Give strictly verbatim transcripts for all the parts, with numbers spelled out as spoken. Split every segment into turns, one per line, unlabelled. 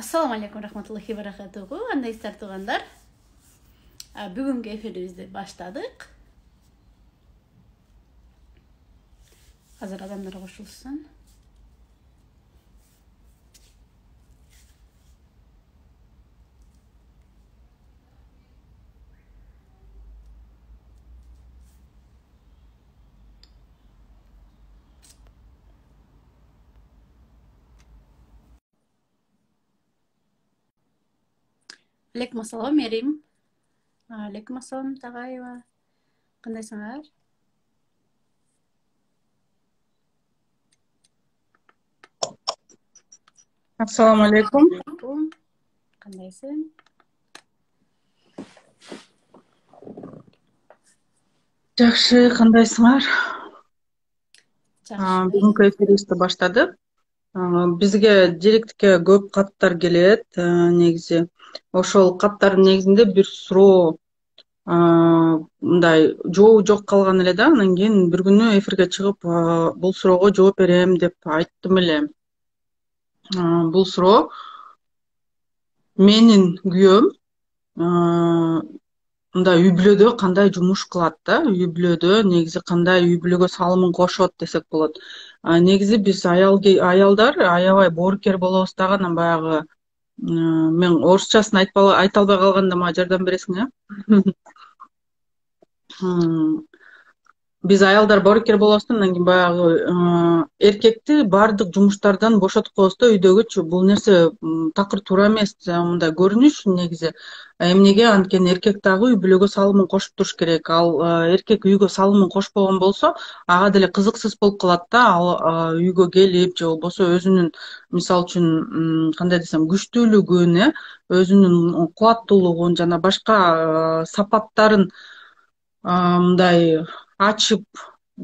Assalamu alaikum rahmatullahi barakatuhu. Андайсыздар туугандар. Бүгүнкү эфирибизди баштадык. Азыр адамдар кошулсын. Алейкум ассалам, Мерим. Алейкум ассалам, Тагаева. Кандайсыңар?
Ассаламу алейкум.
Кандайсың?
Жакшы, кандайсыңар?
Жакшы.
Бүгүнкү эфирибизди баштадык. Бизге директке көп каттар келет, негизи. Ошол каттардын негизинде бир суроо мындай жообу жок калган эле да. Анан кийин бир күнү эфирге чыгып, бул суроого жооп берем деп айттым эле. Бул суроо менин күйөөм мындай үй бүлөдө кандай жумуш кылат да, үй бүлөдө негизи кандай үй бүлөгө салымын кошот десек болот. Негизи биз аялдар аябай боорукер болобуз дагы, анан баягы мен орусчасын айта албай калганда мага жардам бересиң, э? Биз аялдар боорукер болобуз да, анан кийин баягы эркекти баардык жумуштардан бошотуп коебуз да, үйдөгүчү. Бул нерсе такыр туура эмес, мындай көрүнүш негизи. Эмнеге? Анткени эркек дагы үй бүлөгө салымын кошуп туруш керек. Ал эркек үйгө салымын кошпогон болсо, ага деле кызыксыз болуп калат да. Ал үйгө келип же болбосо өзүнүн, мисалы үчүн, кандай десем, күчтүүлүгүн, э, өзүнүн кубаттуулугун жана башка сапаттарын мындай ачып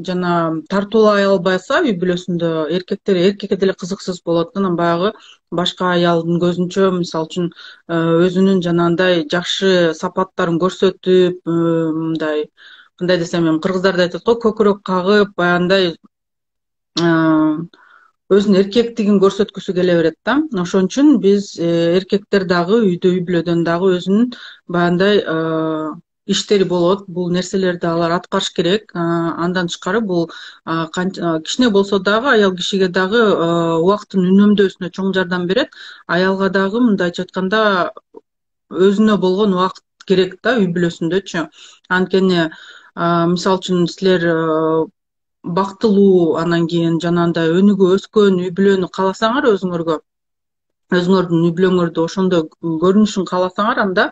жана тартуулай албаса үй бүлөсүндө, эркектер эркекке деле кызыксыз болот. Анан баягы башка аялдын көзүнчө, мисалы үчүн, өзүнүн жанагындай жакшы сапаттарын көрсөтүп, мындай, кандай десем, эми кыргыздарда айтат го, көкүрөк кагып, баягындай өзүнүн эркектигин көрсөткүсү келе берет да. Ошон үчүн биз эркектер дагы үйдө, үй бүлөдөн дагы өзүнүн баягындай иштери болот. Бул нерселерди алар аткарыш керек. Андан тышкары бул кичине болсо дагы аял кишиге дагы убакыттын үнөмдөөсүнө чоң жардам берет. Аялга дагы мындайча айтканда өзүнө болгон убакыт керек да, үй бүлөсүндөчү. Анткени мисалы үчүн силер бактылуу, анан кийин жанагындай өнүгүп өскөн үй бүлөнү кааласаңар өзүңөргө, өзүңөрдүн үй бүлөңөрдү ошондой көрүнүшүн кааласаңар, анда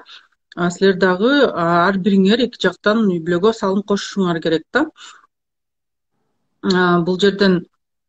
силер дагы ар бириңер эки жактан үй бүлөгө салым кошушуңар керек да. Бул жерден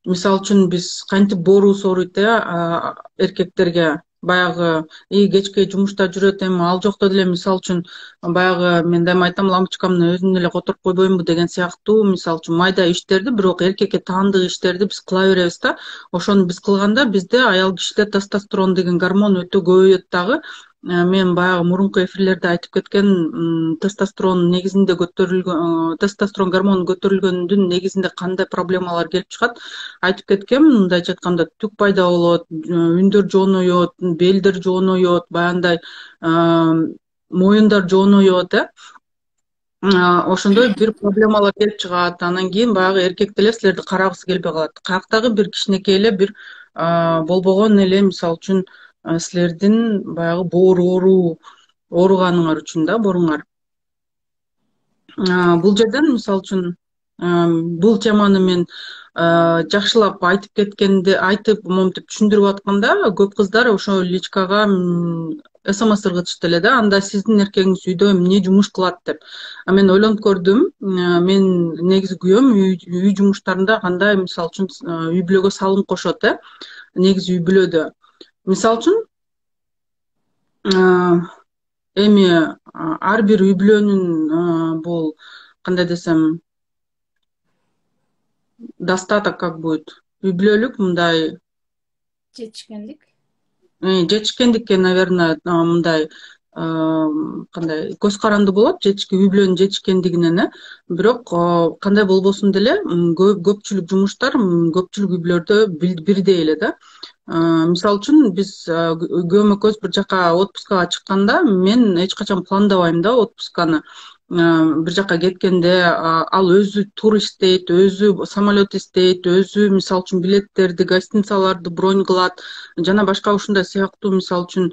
мисалы үчүн биз кантип боорубуз ооруйт, э, эркектерге баягы и кечке жумушта жүрөт, эми ал жокто деле мисалы үчүн баягы мен дайыма айтам, лампочкамды өзүм эле которуп койбоймунбу деген сыяктуу, мисалы үчүн майда иштерди, бирок эркекке таандык иштерди биз кыла беребиз да. Ошону биз кылганда бизде аял кишиде тестостерон деген гормон өтө көбөйөт дагы. Мен баягы мурунку эфирлерде айтып кеткен, тестостерон негизинде көтөрүлгөн, тестостерон гормону көтөрүлгөндүн негизинде кандай проблемалар келип чыгат айтып кеткем. Мындайча айтканда түк пайда болот, үндөр жоонойот, белдер жоонойот, баягындай моюндар жоонойот, э. Ошондой бир проблемалар келип чыгат. Анан кийин баягы эркек деле силерди карагысы келбей калат. Каяктагы бир кичинекей эле бир болбогон эле, мисалы үчүн, силердин баягы боору ооруу ооруганыңар үчүн да, бооруңар. Бул жерден мисалы үчүн бул теманы мен жакшылап айтып кеткенде, айтып моментип түшүндүрүп атканда, көп кыздар ошо личкага смс ыргытышты эле да, анда сиздин эркегиңиз үйдө эмне жумуш кылат деп. Мен ойлонуп көрдүм, мен негизи күйөөм үй жумуштарында кандай, мисалы үчүн, үй бүлөгө салым кошот, э, негизи үй бүлөдө. Мисалы үчүн, эми ар бир үй бүлөнүн бул, кандай десем, достаток как будет, үй бүлөлүк мындай
Жетишкендик.
Жетишкендикке, наверное, мындай кандай көз каранды болот, жетишке үй бүлөнүн жетишкендигинен, э. Бирок кандай болбосун деле көпчүлүк жумуштар көпчүлүк үй бүлөлөрдө бирдей эле да. Мисалы үчүн биз күйөөм экөөбүз бир жака отпускага чыкканда мен эч качан пландабайм да отпусканы. Бир жака кеткенде ал өзү тур издейт, өзү самолет издейт, өзү мисалы үчүн билеттерди, гостиницаларды бронь кылат жана башка ушундай сыяктуу мисалы үчүн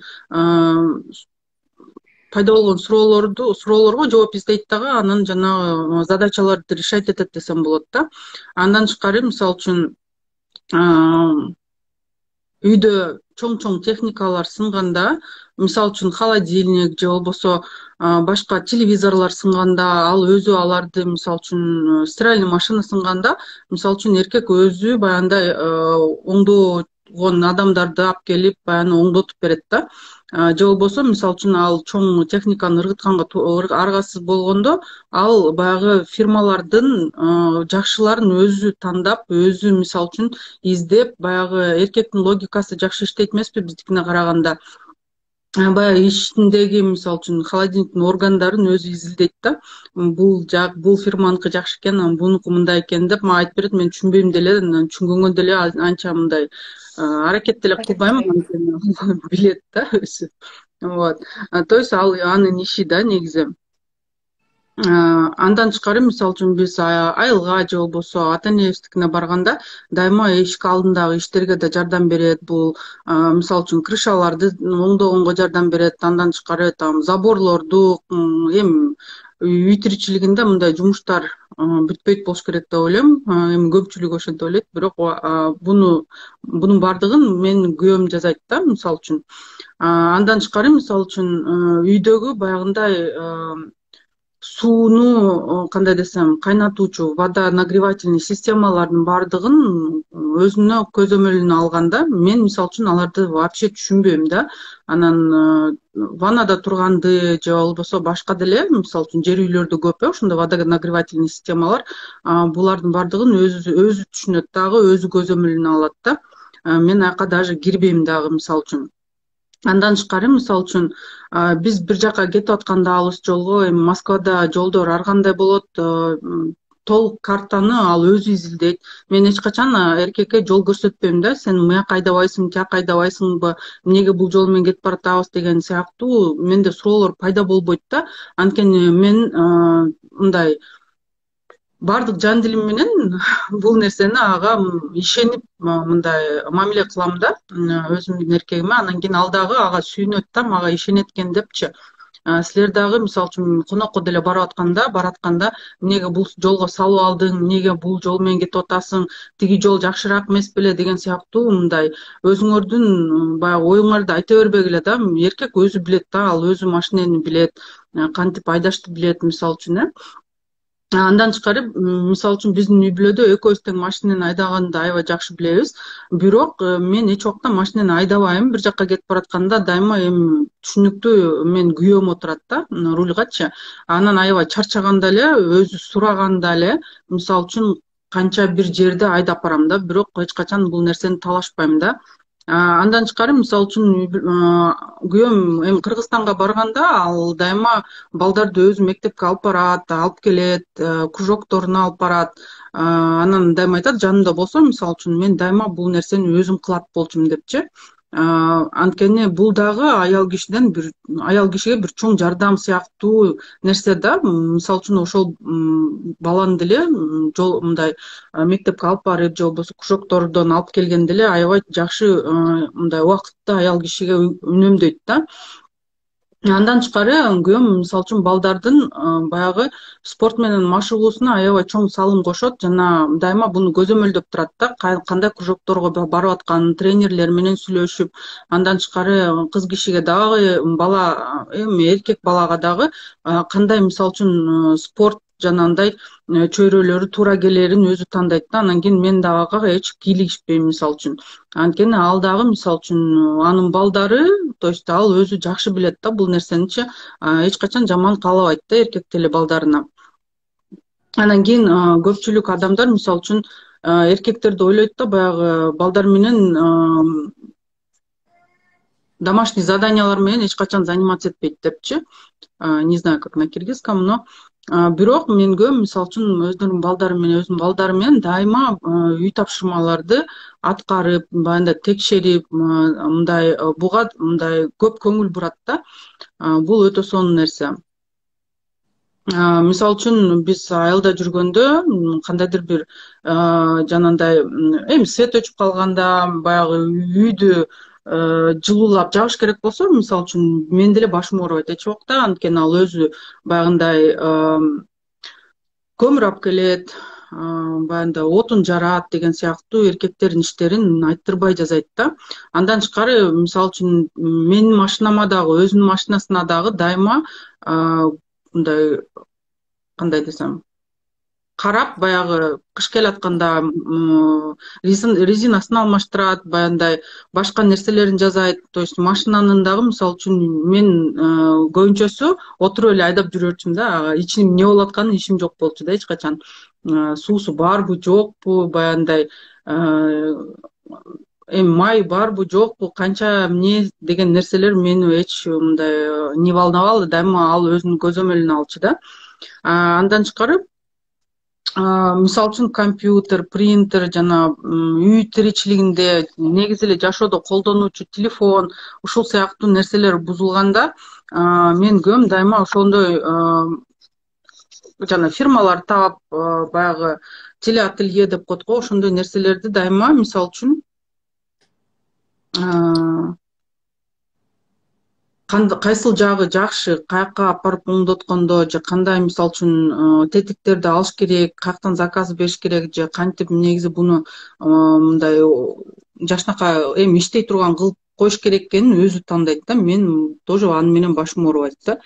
пайда болгон суроолорду суроолорго жооп издейт дагы, анан жанагы задачаларды решать этет десем болот да. Андан тышкары мисалы үчүн үйдө чоң чоң техникалар сынганда, мисалы үчүн холодильник же болбосо башка телевизорлор сынганда, ал өзү аларды мисалы үчүн стиральный машина сынганда, мисалы үчүн эркек өзү баягындай оңдогон адамдарды алып келип баягы оңдотуп берет да. Же болбосо мисалы үчүн ал чоң техниканы ыргытканга аргасыз болгондо, ал баягы фирмалардын жакшыларын өзү тандап, өзү мисалы үчүн издеп, баягы эркектин логикасы жакшы иштейт эмеспи биздикине караганда. Баягы ичиндеги мисалы үчүн холодильниктин органдарын өзү изилдейт да. Бул жак бул фирманыкы жакшы экен, анан бунуку мындай экен деп мага айтып берет. Мен түшүнбөйм деле, түшүнгөнгө деле анча мындай аракет деле кылбайм, анткени билет да өзү. Вот. То есть ал анын иши да негизи. Андан тышкары мисалы үчүн биз айылга же болбосо ата энебиздикине барганда дайыма эшик алдындагы иштерге да жардам берет. Бул мисалы үчүн крышаларды оңдогонго жардам берет. Андан тышкары там заборлорду, эми үй тиричилигинде мындай жумуштар бүтпөйт болуш керек деп ойлойм. Эми көпчүлүк ошентип ойлойт, бирок буну бунун баардыгын менин күйөөм жасайт да, мисалы үчүн. Андан тышкары мисалы үчүн үйдөгү баягындай сууну кандай десем, кайнатуучу водонагревательный системалардын баардыгын өзүнө көзөмөлүнө алганда, мен мисалы үчүн аларды вообще түшүнбөйм да. Анан ваннада турганды же болбосо башка деле, мисалы үчүн жер үйлөрдө көп э ошондой водонагревательный системалар, булардын баардыгын өзү өзү түшүнөт дагы, өзү көзөмөлүнө алат да. Мен аяка даже кирбейм дагы мисалы үчүн. Андан тышкары мисалы үчүн биз бир жака кетип атканда алыс жолго, эми Москвада жолдор ар кандай болот, толук картаны ал өзү изилдейт. Мен эч качан эркекке жол көрсөтпөйм да, сен мыяка айдабайсың, тияка айдабайсыңбы, эмнеге бул жол менен кетип баратабыз деген сыяктуу менде суроолор пайда болбойт да. Анткени мен мындай баардык жан дилим менен бул нерсени ага ишенип мындай мамиле кылам да, өзүмдүн эркегиме. Анан кийин ал дагы ага сүйүнөт да, мага ишенет экен депчи. Силер дагы мисалы үчүн конокко деле барып атканда, баратканда эмнеге бул жолго салып алдың, эмнеге бул жол менен кетип атасың, тиги жол жакшыраак эмес беле деген сыяктуу мындай өзүңөрдүн баягы оюңарды айта бербегиле да. Эркек өзү билет да, ал өзү машинени билет, кантип айдашты билет мисалы үчүн э. Андан тышкары мисалы үчүн биздин үй бүлөдө экөөбүз тең машинени айдаганды аябай жакшы билебиз. Бирок мен эч убакта машинени айдабайм. Бир жака кетип баратканда дайыма эми түшүнүктүү мен күйөөм отурат да рульгачы. Анан аябай чарчаганда эле, өзү сураганда эле мисалы үчүн канча бир жерди айдап барам да, бирок эч качан бул нерсени талашпайм да. Андан тышкары мисалы үчүн күйөөм эми Кыргызстанга барганда ал дайыма балдарды өзү мектепке алып барат, алып келет, кружокторуна алып барат. Анан дайыма айтат, жанымда болсо мисалы үчүн мен дайыма бул нерсени өзүм кылат болчумун депчи. Анткени бул дагы аял кишиден бир аял кишиге бир чоң жардам сыяктуу нерсе да. Мисалы үчүн ошол баланы деле жол мындай мектепке алып барып же болбосо кружоктордон алып келгенде эле аябай жакшы мындай убакытты аял кишиге үнөмдөйт да. Андан тышкары күйөөм мисалы үчүн балдардын баягы спорт менен машыгуусуна аябай чоң салым кошот жана дайыма буну көзөмөлдөп турат да, кандай кружокторго барып атканын тренерлер менен сүйлөшүп. Андан тышкары кыз кишиге дагы, бала эми эркек балага дагы кандай мисалы үчүн спорт жанагындай чөйрөлөрү туура келерин өзү тандайт да. Анан кийин мен дагы ага эч кийлигишпейм мисалы үчүн. Анткени ал дагы мисалы үчүн анын балдары, то есть ал өзү жакшы билет да бул нерсеничи, эч качан жаман каалабайт да эркек деле балдарына. Анан кийин көпчүлүк адамдар мисалы үчүн эркектерди ойлойт да, баягы балдар менен домашний заданиялар менен эч качан заниматься этпейт депчи. Не знаю, как на киргизском, но Бирок мен көп мисалы үчүн өздөрүнүн балдары менен өзүмдүн балдарым менен дайыма үй тапшырмаларды аткарып, баягындай текшерип, мындай буга мындай көп көңүл бурат да. Бул өтө сонун нерсе. Мисалы үчүн биз айылда жүргөндө кандайдыр бир жанагындай эми свет өчүп калганда, баягы үйдү жылуулап жагыш керек болсо, мисалы үчүн менин деле башым оорубайт эч убакта, анткени ал өзү баягындай көмүр алып келет, баягындай отун жарат деген сыяктуу эркектердин иштерин айттырбай жасайт да. Андан тышкары, мисалы үчүн менин машинама дагы, өзүнүн машинасына дагы дайыма мындай, кандай десем, карап, баягы кыш келатканда резинасын алмаштырат, баягындай башка нерселерин жасайт. То есть машинанын дагы, мисалы үчүн, мен көбүнчөсү отуруп эле айдап жүрчүмүн да. Ичинин эмне болуп атканын ишим жок болчу да эч качан. Суусу барбы, жокпу, баягындай эми май барбы, жокпу, канча эмне деген нерселер мени эч мындай не волновало, дайыма ал өзүнүн көзөмөлүнө алчу да. Андан тышкары, мисалы үчүн компьютер, принтер, жана үй тиричилигинде негизи эле жашоодо колдонуучу телефон, ушул сыяктуу нерселер бузулганда, мен көбүм дайыма ошондой жана фирмалар таап, баягы телеателье деп коет го, ошондой нерселерди дайыма, мисалы үчүн, кайсыл жагы жакшы, каяка алып барып оңдоткондо, же кандай, мисалы үчүн, тетиктерди алыш керек, каяктан заказ бериш керек, же кантип негизи буну мындай жакшынакай эми иштей турган кылып коюш керек экенин өзү тандайт да. Мен тоже аны менен башым оорубайт да.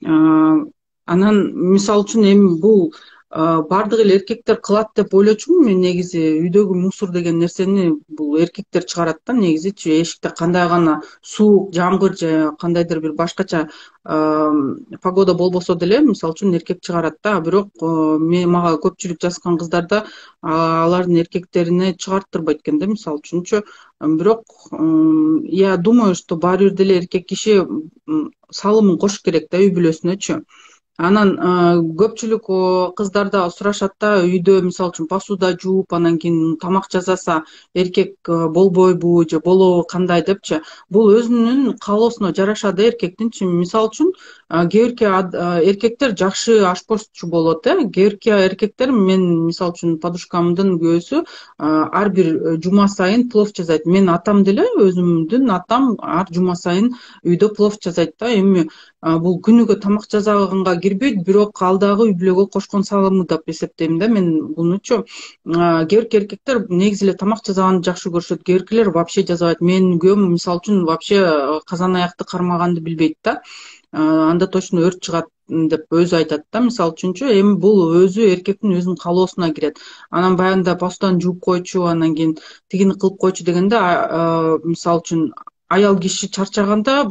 Анан мисалы үчүн эми бул бардык эле эркектер кылат деп ойлочумун мен. Негизи үйдөгү мусор деген нерсени бул эркектер чыгарат да негизичи. Эшикте кандай гана суук, жамгыр же кандайдыр бир башкача погода болбосо деле, мисалы үчүн, эркек чыгарат да. Бирок мен, мага көпчүлүк жазган кыздарда алардын эркектерине чыгарттырбайт экен да, мисалы үчүнчү. Бирок я думаю, что баары бир деле эркек киши салымын кошуш керек да үй бүлөсүнөчү. Анан көпчүлүк кыздарда сурашат да, үйдө мисалы үчүн посуда жууп, анан кийин тамак жасаса эркек болбойбу же болобу, кандай депчи. Бул өзүнүн каалоосуна жараша да эркектинчи. Мисалы үчүн, кээ бирки эркектер жакшы ашпозчу болот, э. Кээ бирки эркектер, мен мисалы үчүн подружкамдын күйөөсү ар бир жума сайын плов жасайт. Менин атам деле, өзүмдүн атам ар жума сайын үйдө плов жасайт да. Эми бул күнүгө тамак жасаганга кирбейт, бирок ал дагы үй бүлөгө кошкон салымы деп эсептейм да мен бунучу. Кээ бирки эркектер негизи эле тамак жасаганды жакшы көрүшөт, кээ биркилер вообще жасабайт. Менин күйөөм, мисалы үчүн, вообще казан аякты кармаганды билбейт да. Анда точно өрт чыгат деп өзү айтат да, мисалы үчүнчү. Эми бул өзү эркектин өзүнүн каалоосуна кирет. Анан баягында посуданы жууп койчу, анан кийин тигини кылып койчу дегенде, мисалы үчүн, аял киши чарчаганда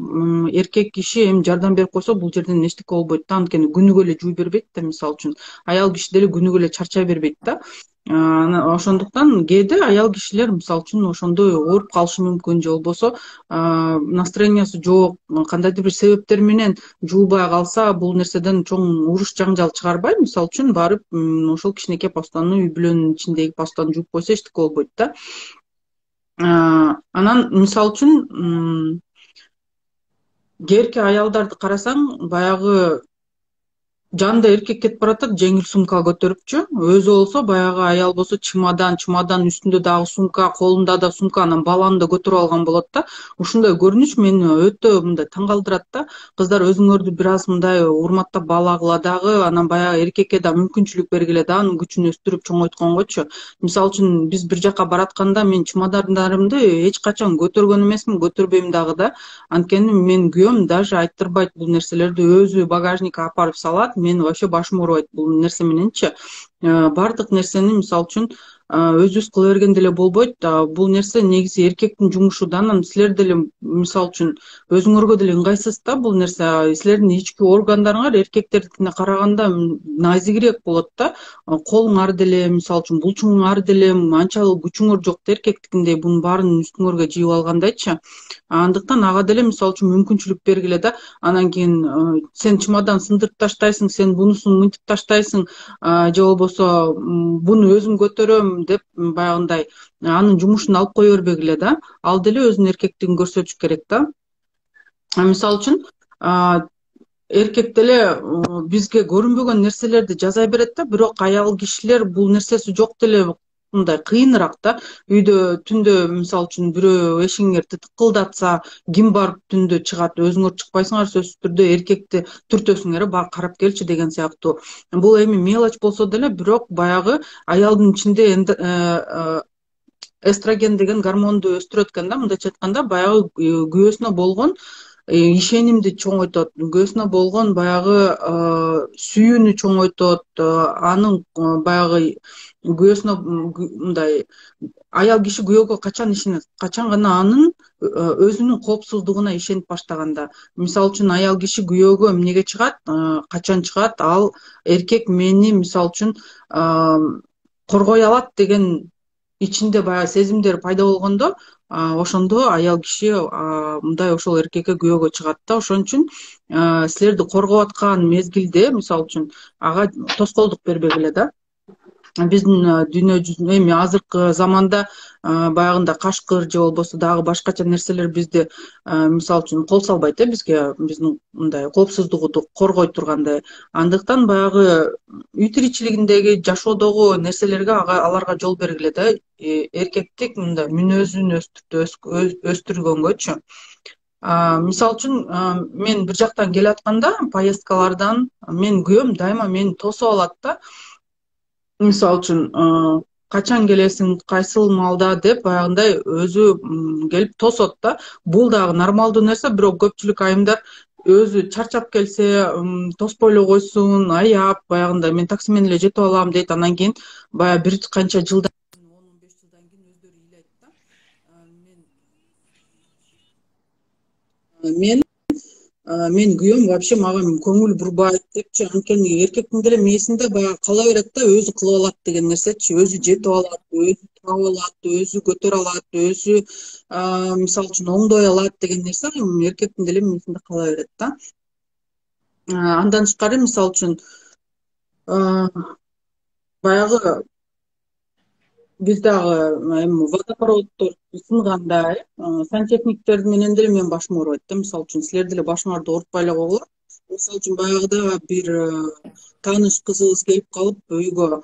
эркек киши эми жардам берип койсо бул жерден эчтеке болбойт да. Анткени күнүгө эле жууй бербейт да, мисалы үчүн. Аял киши деле күнүгө эле чарчай бербейт да. Ошондуктан кээде аял кишилер, мисалы үчүн, ошондой ооруп калышы мүмкүн, же болбосо настроениясы жок, кандайдыр бир себептер менен жуубай калса, бул нерседен чоң уруш жаңжал чыгарбай, мисалы үчүн, барып ошол кичинекей посуданы, үй бүлөнүн ичиндеги посуданы жууп койсо эчтеке болбойт да. Анан мисалы үчүн, кээ бирки аялдарды карасаң, баягы жанында эркек кетип баратат, жеңил сумка көтөрүпчү. Өзү болсо, баягы аял болсо чемодан, чемодан үстүндө дагы сумка, колунда да сумка, анан баланы да көтөрүп алган болот да. Ушундай көрүнүш мени өтө мындай таң калтырат да. Кыздар, өзүңөрдү бир аз мындай урматтап баалагыла дагы, анан баягы эркекке да мүмкүнчүлүк бергиле да, анын күчүн өстүрүп чоңойтконгочу. Мисалы үчүн, биз бир жака баратканда мен чемодандарымды эч качан көтөргөн эмесмин, көтөрбөйм дагы да. Анткени менин күйөөм даже айттырбайт бул нерселерди, өзү багажникке алып барып салат. Мен вообще башым оорубайт бул нерсе мененчи. Бардык нерсени, мисалы үчүн, өзүбүз кыла берген деле болбойт. Бул нерсе негизи эркектин жумушу да. Анан силер деле мисалы үчүн өзүңөргө деле ыңгайсыз да бул нерсе. Силердин ички органдарыңар эркектердикине караганда назигирээк болот да. Колуңар деле мисалы үчүн булчуңар деле анчалык күчүңөр жок да эркектикиндей бунун баарын үстүңөргө жыйып алгандайчы. Андыктан ага деле мисалы үчүн мүмкүнчүлүк бергиле да. Анан кийин сен чемодан сындырып таштайсың, сен бунусун мынтип таштайсың, же болбосо буну өзүм көтөрөм деп баягындай анын жумушун алып кое бербегиле да. Ал деле өзүнүн эркектигин көрсөтүш керек да. Мисалы үчүн эркек деле бизге көрүнбөгөн нерселерди жасай берет да, бирок аял кишилер бул нерсеси жок деле мындай кыйыныраак да. Үйдө түндө мисалы үчүн бирөө эшигиңерди тыкылдатса, ким барып түндө чыгат, өзүңөр чыкпайсыңар, сөзсүз түрдө эркекти түртөсүңөр, бар карап келчи деген сыяктуу. Бул эми мелочь болсо деле, бирок баягы аялдын ичинде эстроген деген гормонду өстүрөт экен да. Мындайча айтканда, баягы күйөөсүнө болгон ишенимди чоңойтот, күйөөсүнө болгон баягы сүйүүнү чоңойтот, анын баягы күйөөсүнө мындай аял киши күйөөгө качан ишенет, качан гана анын өзүнүн коопсуздугуна ишенип баштаганда. Мисалы үчүн аял киши күйөөгө эмнеге чыгат, качан чыгат, ал эркек мени мисалы үчүн коргой алат деген ичинде баягы сезимдер пайда болгондо, ошондо аял киши мындай ошол эркекке күйөөгө чыгат да. Ошон үчүн силерди коргоп аткан мезгилде мисалы үчүн ага тоскоолдук бербегиле да. Биздин дүйнө жүзүндө эми азыркы заманда баягындай кашкыр же болбосо дагы башкача нерселер бизди мисалы үчүн кол салбайт э бизге, биздин мындай коопсуздугубузду коргой тургандай. Андыктан баягы үй тиричилигиндеги жашоодогу нерселерге аларга жол бергиле да. Эркектик мындай мүнөзүн өстүргөнгөчү. Мисалы үчүн мен бир жактан келатканда поездкалардан мен күйөөм дайыма мени тосуп алат да. Мисалы үчүн качан келесиң, кайсыл маалда деп баягындай өзү келип тосот да. Бул дагы нормалдуу нерсе, бирок көпчүлүк айымдар өзү чарчап келсе тоспой эле койсун, аяп баягындай мен такси менен эле жетип алам дейт. Анан кийин баягы бир канча жылдан кийин, он он беш жылдан кийин өздөрү ыйлайт да. Мен мен күйөөм вообще мага көңүл бурбайт депчи. Анткени эркектин деле мээсинде баягы кала берет да, өзү кылып алат деген нерсечи. Өзү жетип алат, өзү таап алат, өзү көтөрө алат, өзү мисалы үчүн оңдой алат деген нерсе эркектин деле мээсинде кала берет да. Андан тышкары мисалы үчүн баягы биз дагы эми водопроводдор сынганда сантехниктер менен деле менин башым оорубайт да. Мисалы үчүн силер деле башыңарды оорутпай эле койгула. Мисалы үчүн баягыда бир тааныш кызыбыз келип калып үйгө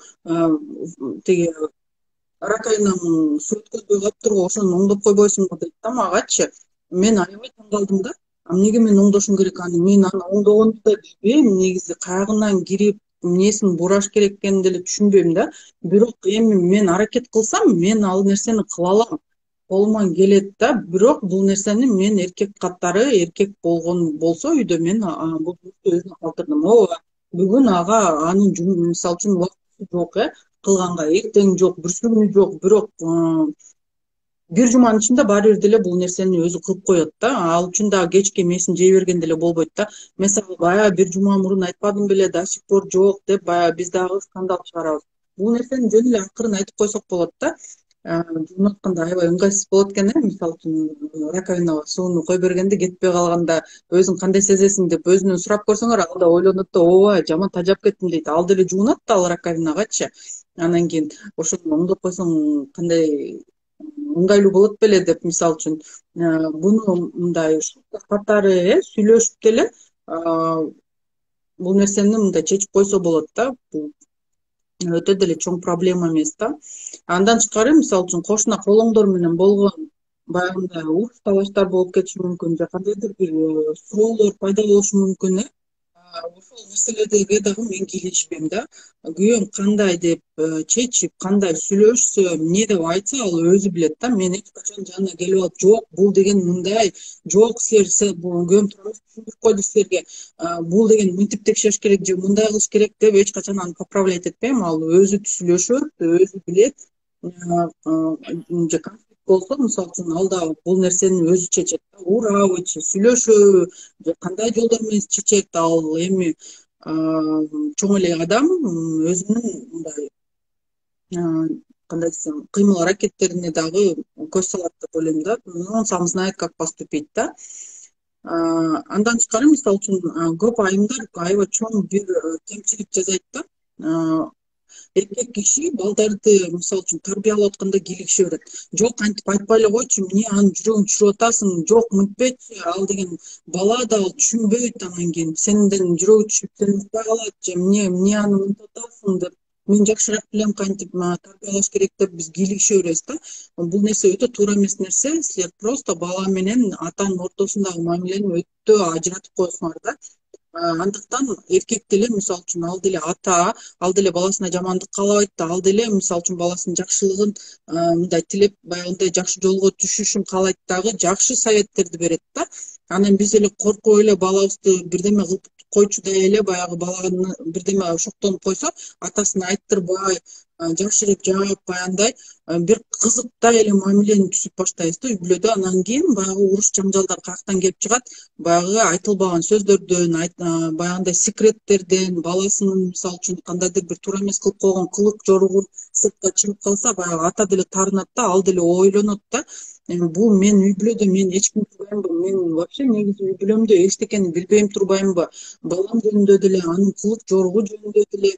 тиги раковинамын суу өткөзбөй калыптырго, ошону оңдоп койбойсуңбу дейт да магачы. Мен аябай таң калдым да. Эмнеге мен оңдошум керек аны? Мен аны оңдогонду да билбейм, негизи каягынан кирип эмнесин бураш керек экенин деле түшүнбөйм да. Бирок эми мен аракет кылсам, мен ал нерсени кыла алам. Колуман келет да. Бирок бул нерсени мен эркек катары, эркек болгон болсо үйдө мен бул өзүнө калтырдым. Ооба, бүгүн ага анын мисалы үчүн убактысы жок э кылганга, эртең жок, бүрсү күнү жок, бирок бир жуманын ичинде баары бир деле бул нерсени өзү кылып коет да. Ал үчүн дагы кечке мээсин жей берген деле болбойт да. Мен сага баягы бир жума мурун айтпадым беле, до сих пор жок деп баягы биз дагы скандал чыгарабыз. Бул нерсени жөн эле акырын айтып койсок болот да. Жуунуп атканда аябай ыңгайсыз болот экен э. Мисалы үчүн раковинага сууну кой бергенде кетпей калганда өзүң кандай сезесиң деп өзүнөн сурап көрсөңөр, ал да ойлонот да, ооба жаман тажап кеттим дейт. Ал деле жуунат да ал раковинагачы. Анан кийин ошону оңдоп койсоң кандай ыңгайлуу болот беле деп, мисалы үчүн буну мындай катары э сүйлөшүп деле бул нерсени мындай чечип койсо болот да. Бул өтө деле чоң проблема эмес да. Андан тышкары мисалы үчүн кошуна колоңдор менен болгон баягындай урус талаштар болуп кетиши мүмкүн, же кандайдыр бир суроолор пайда болушу мүмкүн э. Ошол нерселерге дагы мен кийлигишпейм да. Күйөөм кандай деп чечип, кандай сүйлөшсө, эмне деп айтса, ал өзү билет да. Мен эч качан жанына келип алып, жок, бул деген мындай, жок, силер күйөөм тууралуу түшүндүрүп койду силерге, бул деген мынтип текшериш керек же мындай кылыш керек деп эч качан аны поправлять этпейм. Ал өзү сүйлөшөт, өзү билет. же конфликт болсо, мисалы үчүн ал да бул нерсени өзү чечет да, урабы, сүйлөшөбү же кандай жолдор менен чечет. Ал эми чоң эле адам өзүнүн мындай кандай десем кыймыл аракеттерине дагы көз салат деп ойлойм да. Он сам знает, как поступить да. Андан тышкары, мисалы үчүн, көп айымдар аябай чоң бир кемчилик жасайт да. Эркек киши балдарды мисалы үчүн тарбиялап атканда кийлигише берет. Жок, антип айтпай эле койчу, эмне анын жүрөгүн түшүрүп атасың, жок мынтпечи, ал деген бала да, ал түшүнбөйт. Анан кийин сенден жүрөгү түшүп сени укпай калат же эмне эмне аны мынтип атасың деп, мен жакшыраак билем кантип тарбиялаш керек деп биз кийлигише беребиз да. Бул нерсе өтө туура эмес нерсе. Силер просто бала менен атанын ортосундагы мамилени өтө ажыратып коесуңар да. Андыктан эркек деле мисалы үчүн ал деле ата, ал деле баласына жамандык каалабайт да, ал деле мисалы үчүн баласынын жакшылыгын мындай тилеп, баягындай жакшы жолго түшүшүн каалайт дагы, жакшы советтерди берет да. Анан биз эле коркуп эле балабызды бирдеме кылып койчудай эле баягы баланы бирдеме шоктонуп койсо, атасына айттырбай, жашырып жаап, баягындай бир кызыктай эле мамилени түзүп баштайбыз да үй бүлөдө. Анан кийин баягы уруш жаңжалдар каяктан келип чыгат? Баягы айтылбаган сөздөрдөн, баягындай секреттерден, баласынын мисалы үчүн кандайдыр бир туура эмес кылып койгон кылык жоругу сыртка чыгып калса, баягы ата деле таарынат да, ал деле ойлонот да. Бул мен үй бүлөдө мен эч ким турбаймынбы, мен вообще негизи үй бүлөмдө эчтекени билбейм турбаймынбы, балам жөнүндө деле, анын кылык жоругу жөнүндө деле,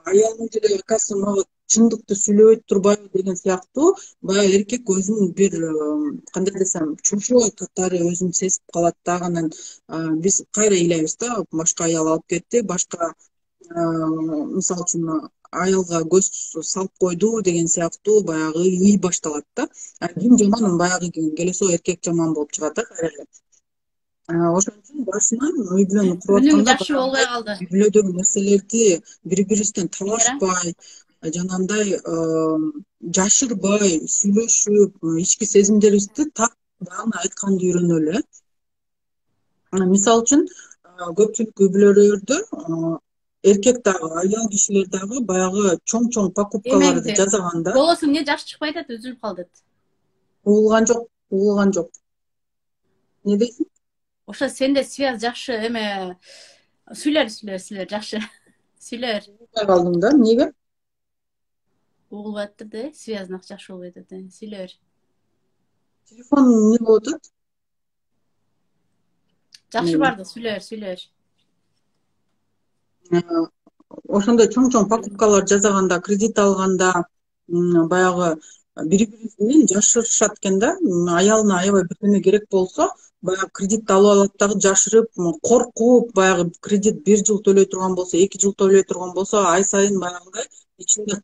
аялым деле акасы мага чындыкты сүйлөбөйт турбайбы деген сыяктуу баягы эркек өзүн бир кандай десем чужой катары өзүн сезип калат да. Анан биз кайра ыйлайбыз да, башка аял алып кетти, башка мисалы үчүн аялга көз салып койду деген сыяктуу баягы ый башталат да. Ким жаман, баягы келесоо эркек жаман болуп чыгат да кайра эле. Ошон үчүн башынан үй бүлөнү куруп
Үнүң
атканда
жакшы болбой калды.
үй бүлөдөгү нерселерди бири бирибизден талашпай, жанагындай жашырбай сүйлөшүп, ички сезимдерибизди так даана айтканды үйрөнөлү. Мисалы үчүн көпчүлүк үй бүлөлөрдө эркек дагы, аял кишилер дагы баягы чоң-чоң покупкаларды жасаганда
голосуң эмне жакшы чыкпай атат, үзүлүп калды.
Угулган жок, угулган жок. Не дейсиң?
Ошо сенде связь жакшы эме сүйлөр сүйлөр сүйлөр жакшы. Сүйлөр.
Угулбай калдым да, эмнеге?
Угулбай атты да, связьнак жакшы болбой атат. Сүйлөр.
Телефон эмне болуп атат?
Жакшы барды, сүйлөр, сүйлөр.
Ошондой чоң-чоң покупкалар жасаганда, кредит алганда баягы бири бирибиз менен жашырышат экен да. Аялына аябай бирдеме керек болсо, баягы кредит алып алат дагы жашырып, коркуп, баягы кредит бир жыл төлөй турган болсо, эки жыл төлөй турган болсо, ай сайын баягындай ичинде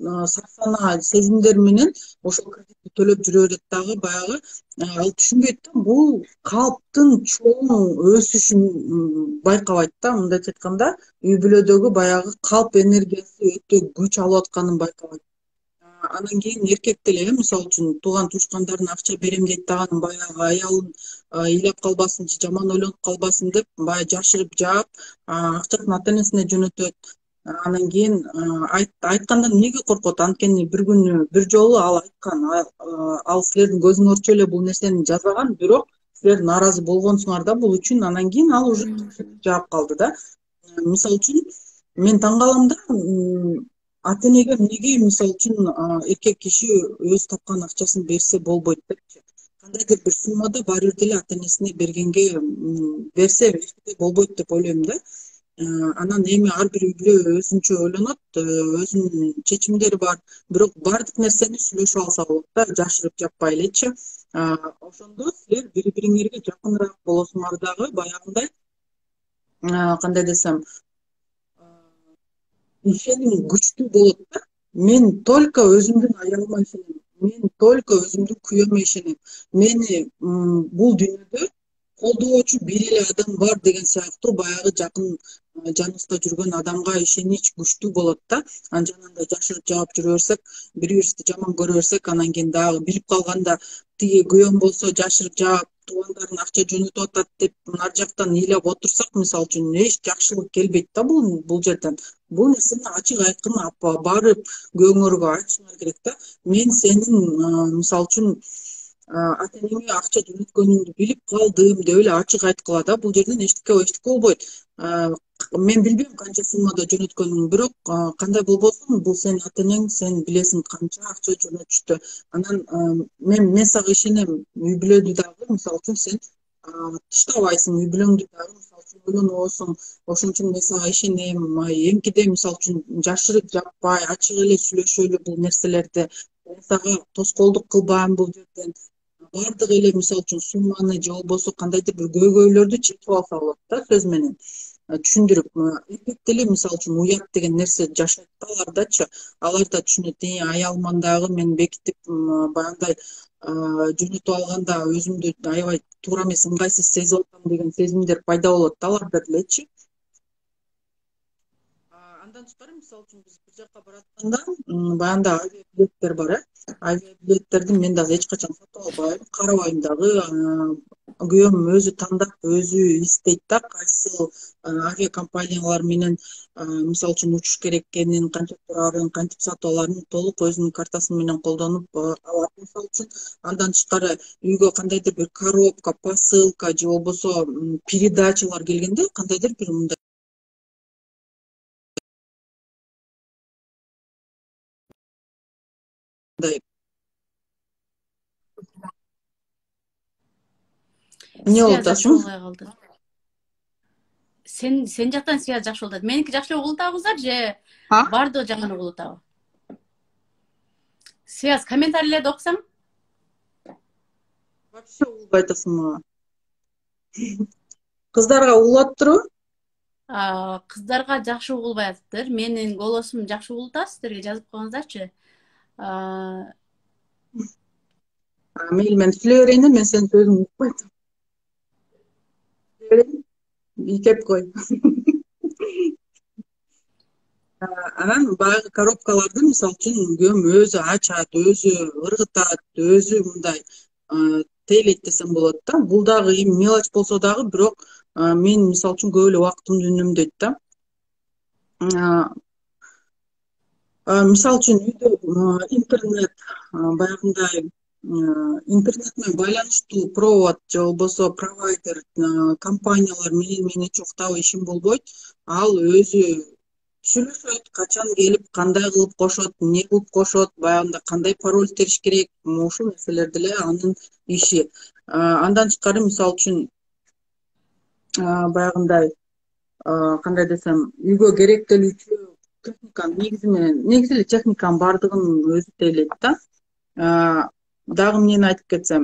сарсанаа сезимдер менен ошол кредитти төлөп жүрө берет дагы. Баягы ал түшүнбөйт да, бул калптын чоң өсүшүн байкабайт да. Мындайча айтканда, үй бүлөдөгү баягы калп энергиясы өтө күч алып атканын байкабайт. Анан кийин эркек деле, мисалы үчүн, тууган туушкандарына акча берем дейт дагы, баягы аялын ыйлап калбасын же жаман ойлонуп калбасын деп, баягы жашырып жаап, акчасын ата энесине жөнөтөт. Анан кийин айткандан эмнеге коркот? Анткени бир күнү бир жолу ал айткан, ал силердин көзүңөрчө эле бул нерсени жазаган, бирок силер нааразы болгонсуңар да бул үчүн. Анан кийин ал уже жаап калды да. Мисалы үчүн, мен таң калам да, ата энеге эмнеге мисалы үчүн эркек киши өз тапкан акчасын берсе болбойт депчи. Кандайдыр бир суммада баары бир деле ата энесине бергенге берсе болбойт деп ойлойм да. Анан эми ар бир үй бүлө өзүнчө ойлонот, өзүнүн чечимдери бар, бирок баардык нерсени сүйлөшүп алса болот да, жашырып жаппай элечи. Ошондо силер бири бириңерге жакыныраак болосуңар дагы, баягындай кандай десем, ишеним күчтүү болот да. Мен только өзүмдүн аялыма ишенем, мен только өзүмдүн күйөөмө ишенем, мени бул дүйнөдө колдоочу бир эле адам бар деген сыяктуу баягы жакын жаныбызда жүргөн адамга ишенич күчтүү болот да. Анан жанагындай жашырып жаап жүрө берсек, бири бирибизди жаман көрө берсек, анан кийин дагы билип калганда тиги күйөөм болсо жашырып жаап туугандарын акча жөнөтүп атат деп ар жактан ыйлап отурсак, мисалы үчүн эч жакшылык келбейт да бул бул жерден. Бул нерсени ачык айкын барып күйөөңөргө айтышыңар керек да. Мен сенин мисалы үчүн ата энеңе акча жөнөткөнүңдү билип калдым деп эле ачык айткыла да. Бул жерден эчтеке эчтеке болбойт. Мен билбейм канча суммада жөнөткөнүңдү, бирок кандай болбосун, бул сенин ата энең, сен билесиң канча акча жөнөтүштү. Анан мен мен сага ишенем. Үй бүлөдү дагы мисалы үчүн сен тыштабайсың, үй бүлөңдү дагы мисалы үчүн ойлонобойсуң. Ошон үчүн мен сага ишенем. Эмкиде мисалы үчүн жашырып жаппай, ачык эле сүйлөшөлү бул нерселерди. Мен сага тоскоолдук кылбайм бул жерден. Бардык эле мисалы үчүн сумманы же болбосо кандайдыр бир көйгөйлөрдү чечип алса болот да, сөз менен түшүндүрүп. Эркек деле мисалы үчүн уят деген нерсе жашайт да алардачы. Алар да түшүнөт, аялман дагы мен бекитип баягындай жөнөтүп алганда өзүмдү аябай туура эмес, ыңгайсыз сезип атам деген сезимдер пайда болот да аларда делечи. Андан тышкары мисалы үчүн биз бир жака баратканда баягындай авиабилеттер бар, э. Авиабилеттерди мен дагы эч качан сатып албайм, карабайм дагы. Күйөөм өзү тандап, өзү издейт да кайсы авиакомпаниялар менен мисалы үчүн учуш керек экенин, канча турарын, кантип сатып аларын толук өзүнүн картасы менен колдонуп алат мисалы үчүн. Андан тышкары үйгө кандайдыр бир коробка, посылка же болбосо передачалар келгенде кандайдыр бир мындай эмне болуп атасың?
Калды. Сен сен жактан связь жакшы болуп атат. Меники жакшы угулуп атабыздар же бардыгы жаман угулуп атабы? Связь комментарийлерди окусаң?
Вообще угулбай атасың мага. Кыздарга угулуп атыптырбы?
Кыздарга жакшы угулбай атыптыр. Менин голосум жакшы угулуп атат, сиздерге жазып койгоңуздарчы.
Мейли, мен сүйлөй берейин, мен сенин сөзүңдү укпай атам. Ийкеп кой. Анан баягы коробкаларды мисалы үчүн күйөөм өзү ачат, өзү ыргытат, өзү мындай тейлейт десем болот да. Бул дагы эми мелочь болсо дагы, бирок мен мисалы үчүн көп эле убактымды үнөмдөйт да. Мисалы үчүн үйдө интернет, баягындай интернет менен байланыштуу провод же болбосо провайдер компаниялар менен мен эч уктап ишим болбойт. Ал өзү сүйлөшөт, качан келип, кандай кылып кошот, эмне кылып кошот, баягында кандай пароль териш керек, ушул нерселер деле анын иши. Андан тышкары мисалы үчүн баягындай кандай десем, үйгө керектелүүчү техниканын негизи менен, негизи эле техниканын бардыгын өзү тейлейт да. Дагы эмнени айтып кетсем,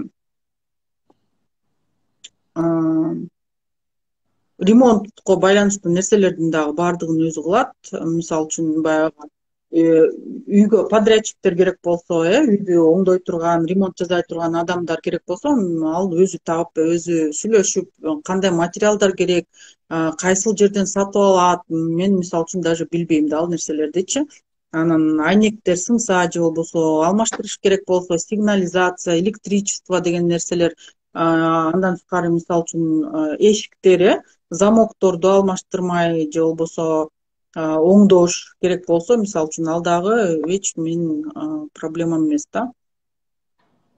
ремонтко байланыштуу нерселердин дагы бардыгын өзү кылат. Мисалы үчүн баягы үйгө подрядчиктер керек болсо, э, үйдү оңдой турган, ремонт жасай турган адамдар керек болсо, ал өзү таап, өзү сүйлөшүп, кандай материалдар керек, кайсыл жерден сатып алат, мен мисалы үчүн даже билбейм да ал нерселердичи. Анан айнектер сынса же болбосо алмаштырыш керек болсо, сигнализация, электричество деген нерселер. Андан тышкары мисалы үчүн эшиктер, замокторду алмаштырмай же болбосо оңдош керек болсо, мисалы үчүн ал дагы эч менин проблемам эмес да.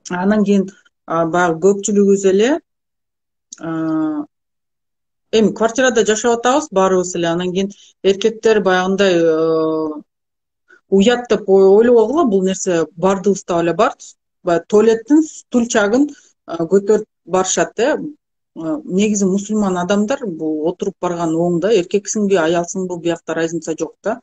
Анан кийин баягы көпчүлүгүбүз эле эми квартирада жашап атабыз баарыбыз эле. Анан кийин эркектер баягындай уят деп ойлобогула, бул нерсе бардыгыбызда эле бар. Баягы туалеттин стульчагын көтөрүп барышат, э. Негизи мусулман адамдар бул отуруп барган оң да, эркексиңби, аялсыңбы, биякта разница жок да.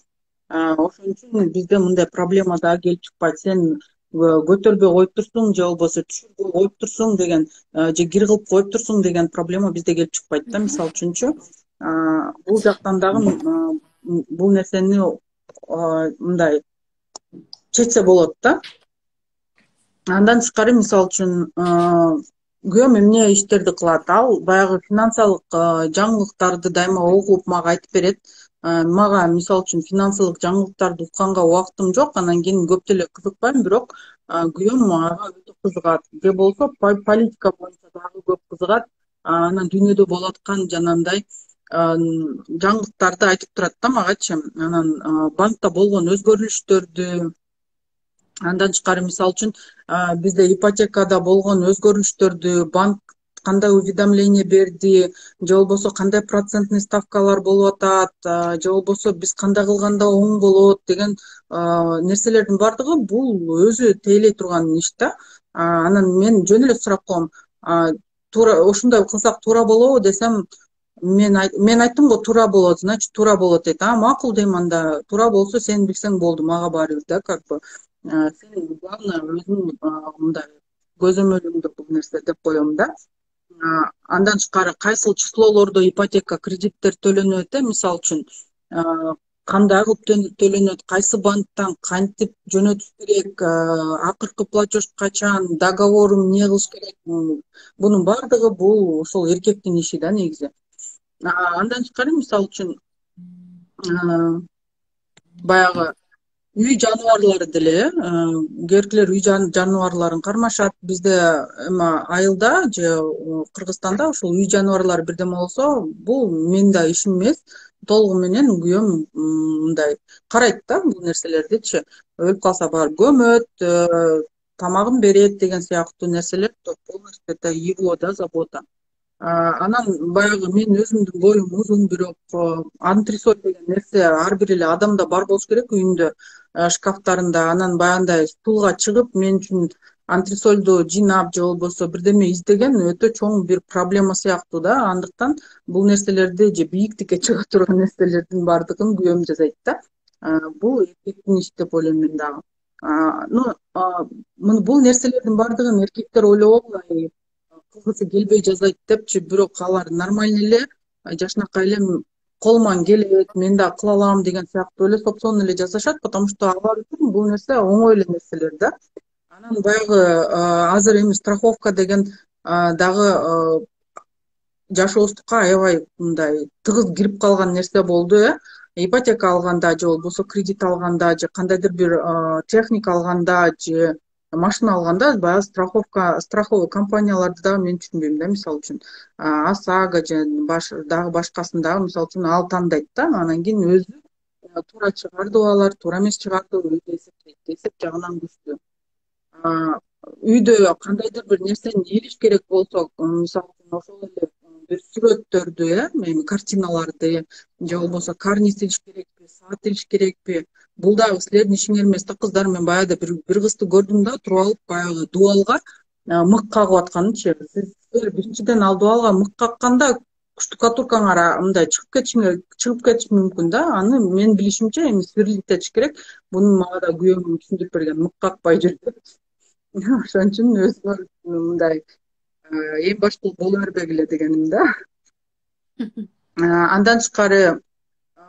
Ошон үчүн бизде мындай проблема дагы келип чыкпайт. Сен көтөрбөй коюп турсуң же болбосо түшүрбөй коюп турсуң деген, же кир кылып коюп турсуң деген проблема бизде келип чыкпайт да, мисалы үчүнчү. Бул жактан дагы бул нерсени мындай чечсе болот да. Андан тышкары мисалы үчүн күйөөм эмне иштерди кылат? Ал баягы финансылык жаңылыктарды дайыма окуп мага айтып берет. мага мисалы үчүн финансылык жаңылыктарды укканга убактым жок, анан кийин көп деле кызыкпайм, бирок күйөөм ага өтө кызыгат, же болбосо политика боюнча дагы көп кызыгат. Анан дүйнөдө болуп аткан жанагындай жаңылыктарды айтып турат да магачы. Анан банкта болгон өзгөрүштөрдү, андан тышкары мисалы үчүн бизде ипотекада болгон өзгөрүштөрдү, банк кандай уведомление берди, же болбосо кандай процентный ставкалар болуп атат, же болбосо биз кандай кылганда оң болот деген нерселердин баардыгы бул өзү тейлей турган иш да. Анан мен жөн эле сурап коем, туура ушундай кылсак туура болобу десем, мен мен айттым го туура болот, значит туура болот дейт. А макул дейм, анда туура болсо сен билсең болду, мага баары бир да, как бы сен главное өзүң мындай көзөмөлүңдө бул нерсе деп коем да. Андан тышкары кайсыл числолордо ипотека кредиттер төлөнөт, мисалы үчүн кандай кылып төлөнөт, кайсы банктан кантип жөнөтүш керек, акыркы платеж качан, договорун эмне кылыш керек, бунун баардыгы бул ошол эркектин иши да негизи. Андан тышкары мисалы үчүн баягы үй жаныбарлары деле, кээ биркилер үй жаныбарларын кармашат. Бизде эми айылда же Кыргызстанда ушул үй жаныбарлары бирдеме болсо, бул менин да ишим эмес, толугу менен күйөөм мындай карайт да бул нерселердичи. Өлүп калса барып көмөт, тамагын берет деген сыяктуу нерселер полностью это его да забота. Анан баягы мен өзүмдүн боюм узун, бирок антресоль деген нерсе ар бир эле адамда бар болуш керек үйүндө, шкафтарында. Анан баягындай стулга чыгып мен үчүн антресольду жыйнап же болбосо бирдеме издеген өтө чоң бир проблема сыяктуу да. Андыктан бул нерселерди же бийиктикке чыга турган нерселердин баардыгын күйөөм жасайт да. Бул эркектин иши деп ойлойм мен дагы. Ну бул нерселердин баардыгын эркектер ойлобогу кылгысы келбей жасайт депчи, бирок алар нормальный эле, жакшынакай эле колуман келет, мен да кыла алам деген сыяктуу эле сопсон эле жасашат, потому что алар үчүн бул нерсе оңой эле нерселер да. Анан баягы азыр эми страховка деген дагы жашообуздукка аябай мындай тыгыз кирип калган нерсе болду, э. Ипотека алганда же болбосо кредит алганда же кандайдыр бир техника алганда же машина алганда баягы страховка, страховый компанияларды дагы мен түшүнбөйм да. Мисалы үчүн ОСАГО же дагы башкасын дагы мисалы үчүн ал тандайт да. Анан кийин өзү туура чыгардыбы алар, туура эмес чыгардыбы өзү эсептейт. Эсеп жагынан күчтүү. Үйдө кандайдыр бир нерсени илиш керек болсо, мисалы үчүн ошол эле бир сүрөттөрдү, э, эми картиналарды же болбосо карниз илиш керекпи, саат илиш керекпи, бул дагы силердин ишиңер эмес да кыздар. Мен баягыда бир бир кызды көрдүм да, туруп алып баягы дубалга мык кагып атканычы. Силер биринчиден ал дубалга мык какканда штукатуркаңар мындай чыгып кетишиңер чыгып кетиши мүмкүн да. Аны мен билишимче эми сверлиттетиш керек. Буну мага да күйөөм түшүндүрүп берген, мык какпай жүр деп. Ошон үчүн өзүңөр мындай эң башкы боло бербегиле дегеним да. Андан тышкары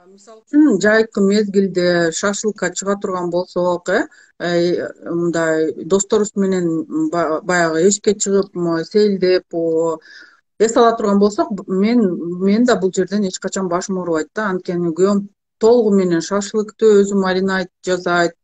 мисалы үчүн жайкы мезгилде шашлыкка чыга турган болсок, э, мындай досторубуз менен баягы эшикке чыгып сейилдеп эс ала турган болсок, мен мен да бул жерден эч качан башым оорубайт да. Анткени күйөөм толугу менен шашлыкты өзү маринад жасайт,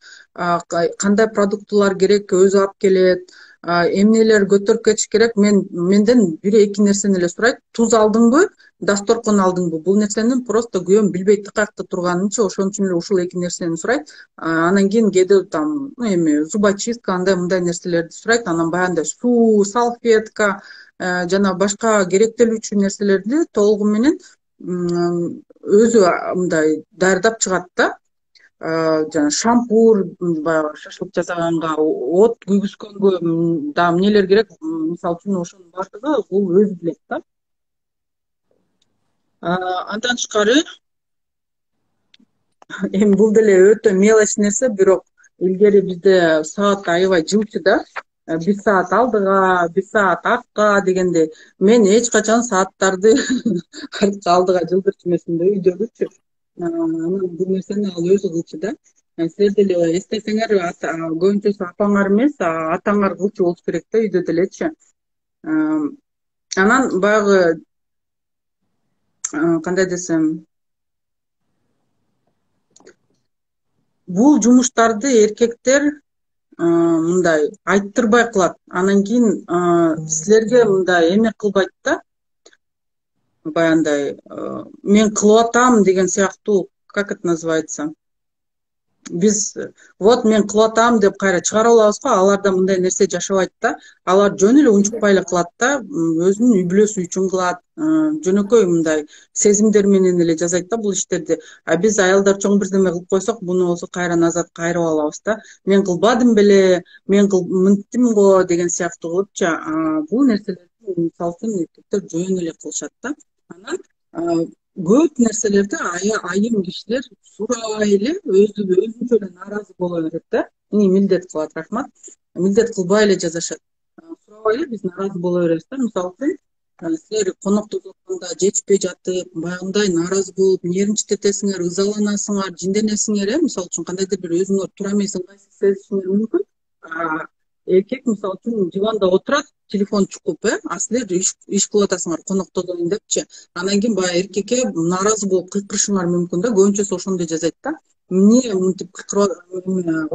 кандай продуктылар керек өзү алып келет, эмнелер көтөрүп кетиш керек. Мен менден бир эки нерсени эле сурайт: туз алдыңбы, дасторкон алдыңбы? Бул нерсени просто күйөөм билбейт каякта турганынчы, ошон үчүн эле ушул эки нерсени сурайт. Анан кийин кээде там эми зубочистка андай мындай нерселерди сурайт. Анан баягындай суу, салфетка жана башка керектелүүчү нерселерди толугу менен өзү мындай даярдап чыгат да. Жана шампур, баягы шашлык жасаганга от күйгүзгөнгө дагы эмнелер керек, мисалы үчүн ошонун баардыгы бул өзү билет да. Андан тышкары эми бул деле өтө мелочь нерсе, бирок илгери бизде саат аябай жылчу да. Бир саат алдыга, бир саат артка дегенде, мен эч качан сааттарды артка алдыга жылдырчу эмесмин да үйдөгүчү. Анан бул нерсени ал өзү кылчу да. Силер деле эстесеңер, көбүнчөсү апаңар эмес, атаңар кылчу болуш керек да үйдө делечи. Анан баягы кандай десем, бул жумуштарды эркектер мындай айттырбай кылат, анан кийин силерге мындай эме кылбайт да, баягындай мен кылып атам деген сыяктуу, как это называется, биз вот мен кылып атам деп кайра чыгарып алабыз го, аларда мындай нерсе жашабайт да. Алар жөн эле унчукпай эле кылат да, өзүнүн үй бүлөсү үчүн кылат, жөнөкөй мындай сезимдер менен эле жасайт да бул иштерди. А биз аялдар чоң бирдеме кылып койсок, буну болсо кайра назад кайрып алабыз да. Мен кылбадым беле, мен мынттим го деген сыяктуу кылыпчы. Бул нерселерди мисалы үчүн эркектер жөн эле кылышат да. Анан көп нерселерди айым кишилер сурабай эле өзү өзүнчө эле нааразы боло берет да. Милдет кылат, рахмат. Милдет кылбай эле жазышат. Сурабай эле биз нааразы боло беребиз да. Мисалы үчүн силер конокто турганда жетишпей жатып, баягындай нааразы болуп, нервничать ызаланасыңар, жинденесиңер, э, мисалы үчүн кандайдыр бир өзүңөр тура эмес ыңгайсыз сезишиңер мүмкүн. Эркек мисалы үчүн диванда отурат, телефон чукуп, э, а силер иш кылып атасыңар, коноктодойм депчи. Анан кийин баягы эркекке нааразы болуп кыйкырышыңар мүмкүн да. Көбүнчөсү ошондой жасайт да. Эмне мынтип кыйкырып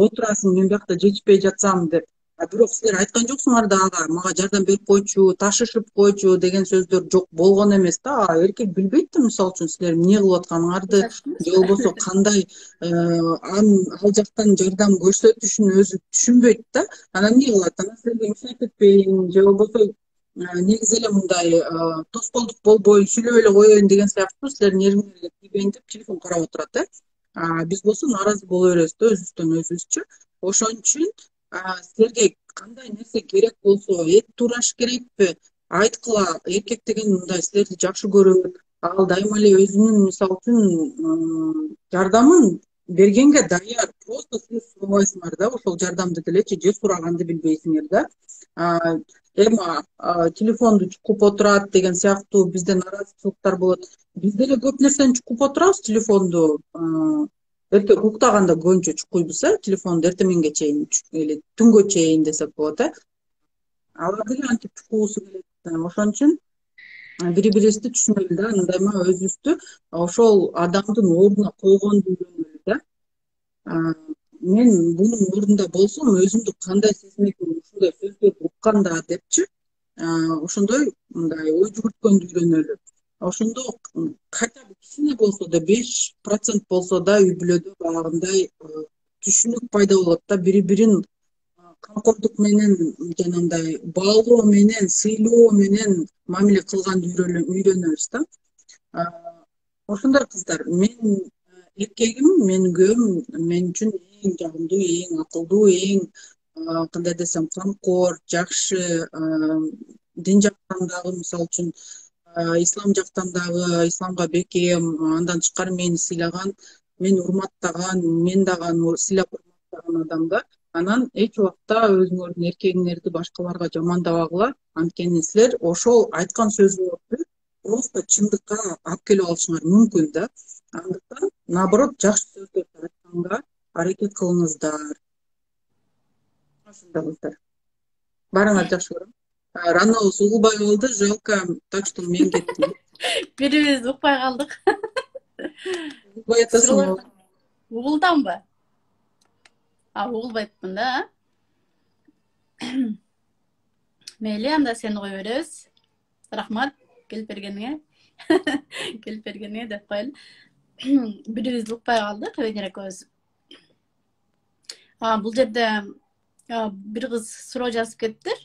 отурасың, мен биякта жетишпей жатсам деп. А бирок силер айткан жоксуңар да ага, мага жардам берип койчу, ташышып койчу деген сөздөр жок болгон эмес да. Эркек билбейт да, мисалы үчүн силер эмне кылып атканыңарды, же болбосо кандай ал жактан жардам көрсөтүшүн өзү түшүнбөйт да. Анан эмне кылат? Анан силерге мешать этпейин, же болбосо негизи эле мындай тоскоолдук болбой сүйлөп эле коеюн деген сыяктуу силердин нервиңерге тийбейин деп телефон карап отурат, э. Биз болсо нааразы боло беребиз да өзүбүздөн өзүбүзчү. Ошон үчүн силерге кандай нерсе керек болсо, эт туураш керекпи, айткыла. Эркек деген мындай силерди жакшы көрөт, ал дайыма эле өзүнүн мисалы үчүн жардамын бергенге даяр. Просто силер сурабайсыңар да ошол жардамды делечи, же сураганды билбейсиңер да. Эми телефонду чукуп отурат деген сыяктуу бизде нааразычылыктар болот. Биз деле көп нерсени чукуп отурабыз телефонду. Эртең уктаганда көбүнчө чукуйбуз, э, телефонду эртең чейин эле түнгө чейин десек болот, э. Алар деле антип чукуусу келет. Ошон үчүн бири бирибизди түшүнөлү да, андайма өзүбүздү ошол адамдын ордуна койгонду үйрөнөлү да. Мен бунун ордунда болсом өзүмдү кандай сезинет элем ушундай сөздөрдү укканда депчи, ошондой мындай ой жүгүрткөндү үйрөнөлү. Ошондо хотя бы кичине болсо да, беш процент болсо да үй бүлөдө баягындай түшүнүк пайда болот да, бири бирин камкордук менен, жанагындай баалоо менен, сыйлоо менен мамиле кылганды үйрөнөбүз да. Ошондой кыздар, мен эркегим, менин күйөөм мен үчүн эң жагымдуу, эң акылдуу, эң кандай десем камкор, жакшы, дин жактан дагы мисалы үчүн ислам жактан дагы, исламга бекем, андан тышкары мени сыйлаган, мени урматтаган, мен дагы аны сыйлап урматтаган адам да. Анан эч убакта өзүңөрдүн эркегиңерди башкаларга жамандабагыла, анткени силер ошол айткан сөзүңөрдү просто чындыкка алып келип алышыңар мүмкүн да. Андыктан наоборот жакшы сөздөрдү айтканга аракет кылыңыздар. Ошондой кыздар. Баарыңарды жакшы көрөм. Ранобуз угулбай калды, жалко, так что мен кеттим.
Бирибиз укпай калдык.
Угулбай атасың.
Угулдамбы? А, угулбайпмын да. Мейли, анда сени кое беребиз. Рахмат келип бергениңе. Келип бергениңе деп коелу. Бирибиз укпай калдык, Венера экөөбүз. Бул жерде бир кыз суроо жазып кетиптир.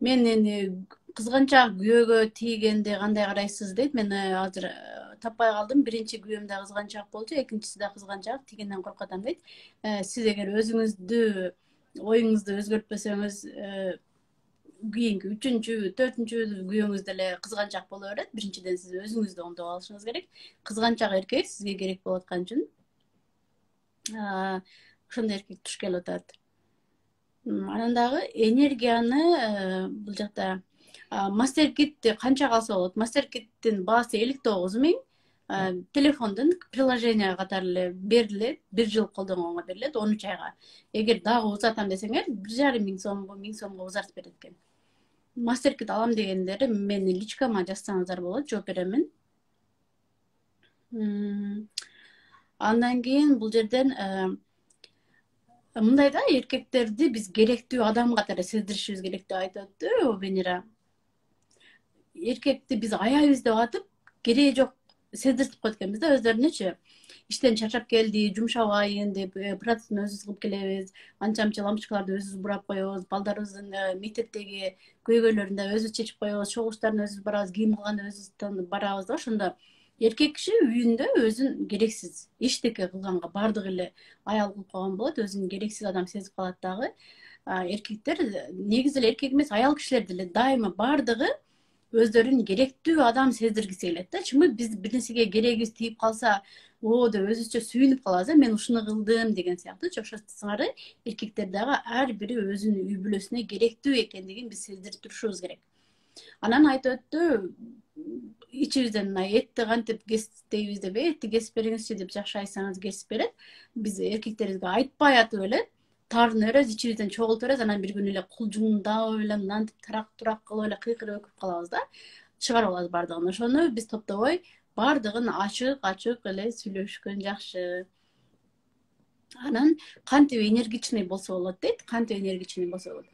Мен кызганчак күйөөгө тийгенди кандай карайсыз дейт. Мен азыр таппай калдым. Биринчи күйөөм да кызганчак болчу, экинчиси да кызганчак, тийгенден коркуп атам дейт. Сиз эгер өзүңүздү, оюңузду өзгөртпөсөңүз, кийинки үчүнчү, төртүнчү күйөөңүз деле кызганчак боло берет. Биринчиден сиз өзүңүздү оңдоп алышыңыз керек. Кызганчак эркек сизге керек болуп аткан үчүн ошондой эркек туш келип атат. Анан дагы энергияны бул жакта MasterKitти канча калса болот? MasterKiттин баасы элүү тогуз миң. Телефондон приложение катары эле берилет, бир жыл колдонгонго берилет, он үч айга. Эгер дагы узатам десеңер, бир жарым миң сомго, миң сомго узартып берет экен. MasterKit алам дегендер мени личкама жазсаңыздар болот, жооп беремин. Андан кийин бул жерден мындай да, эркектерди биз керектүү адам катары сездиришибиз керек деп айтып өттү Венера. Эркекти биз аябыз деп атып, кереги жок сездиртип коет экенбиз да өздөрүнөчү. Иштен чарчап келди, жумшабайын деп процессин өзүбүз кылып келебиз. Анча мынча лампочкаларды өзүбүз бурап коебуз, балдарыбыздын мектептеги көйгөйлөрүн да өзүбүз чечип коебуз, чогулуштарына өзүбүз барабыз, кийим кылганда өзүбүз барабыз да. Ошондо эркек киши үйүндө өзүн керексиз эчтеке кылганга баардык эле аял кылып койгон болот, өзүн керексиз адам сезип калат дагы. Эркектер негизи эле эркек эмес, аял кишилер деле дайыма баардыгы өздөрүн керектүү адам сездиргиси келет да. Чымы биз бир нерсеге керегибиз тийип калса, о деп өзүбүзчө сүйүнүп калабыз, мен ушуну кылдым деген сыяктуу. Ошо сыңары эркектер дагы ар бири өзүнүн үй бүлөсүнө керектүү экендигин биз сездирип турушубуз керек. Анан айтып өттү, ичибизден мына этти кантип кесип дейбиз деп, этти кесип бериңизчи деп жакшы айтсаңыз кесип берет. Биз эркектерибизге айтпай атып эле таарына беребиз, ичибизден чогултуп беребиз, анан бир күнү эле кулжуңдап эле мынтип тарак турак кылып эле кыйкырып өкүп калабыз да. Чыгарып алабыз баардыгын. Ошону биз топтобой баардыгын ачык ачык эле сүйлөшкөн жакшы. Анан кантип энергичный болсо болот дейт, кантип энергичный болсо болот.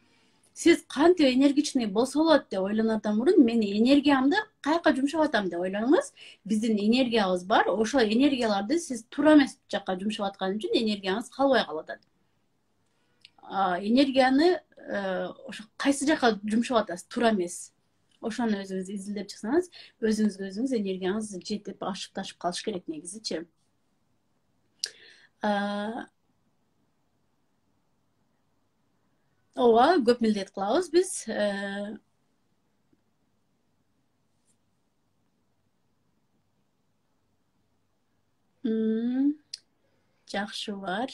Сиз кантип энергичный болсо болот деп ойлонордон мурун мен энергиямды каяка жумшап атам деп ойлонуңуз. Биздин энергиябыз бар, ошол энергияларды сиз туура эмес жакка жумшап аткан үчүн энергияңыз калбай калып атат. Энергияны ошо кайсы жака жумшап атасыз, туура эмес. Ошону өзүңүз изилдеп чыксаңыз, өзүңүзгө өзүңүз энергияңыз жетип ашып ташып калыш керек негизичи. Ооба, көп милдет кылабыз биз. Жакшы бар.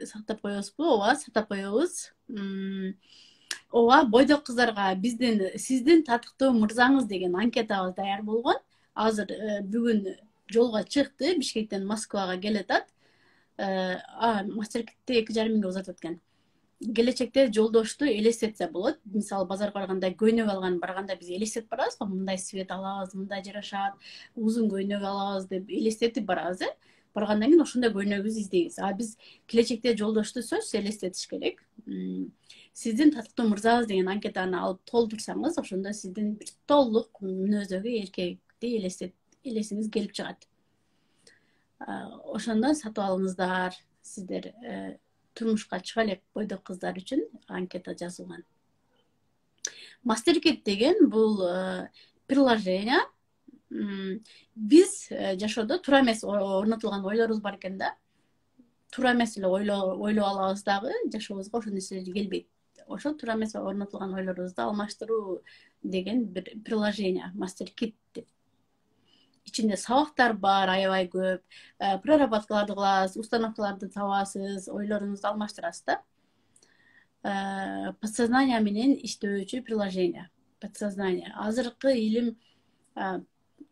Сактап коебузбу? Ооба, сактап коебуз. Ооба, бойдок кыздарга биздин сиздин татыктуу мырзаңыз деген анкетабыз даяр болгон. Азыр бүгүн жолго чыкты, Бишкектен Москвага келатат. А, Мастеркитти эки жарым миңге узатып экен. Келечекте жолдошту элестетсе болот. Мисалы, базарга барганда көйнөк алган барганда биз элестетип барабыз го, мындай свет алабыз, мындай жарашат, узун көйнөк алабыз деп элестетип барабыз, э? Баргандан кийин ошондой көйнөгүбүздү издейбиз. А биз келечекте жолдошту сөзсүз элестетиш керек. Сиздин татыктуу мырзаңыз деген анкетаны алып толтурсаңыз, ошондо сиздин бир толук мүнөздөгү эркекти элестет элесиңиз келип чыгат. Ошондон сатып алыңыздар. Сиздер турмушка чыга элек бойдок кыздар үчүн анкета жазылган. Мастеркит деген бул приложение. Биз жашоодо туура эмес орнотулган ойлорубуз бар экен да. Туура эмес эле ойлоп алабыз дагы, жашообузга ошол нерселер келбейт. Ошол туура эмес орнотулган ойлорубузду алмаштыруу деген бир приложение, Мастеркит деп. Ичинде сабактар бар, аябай көп. Проработкаларды кыласыз, установкаларды табасыз, ойлоруңузду алмаштырасыз да. Подсознание менен иштөөчү приложение. Подсознание. Азыркы илим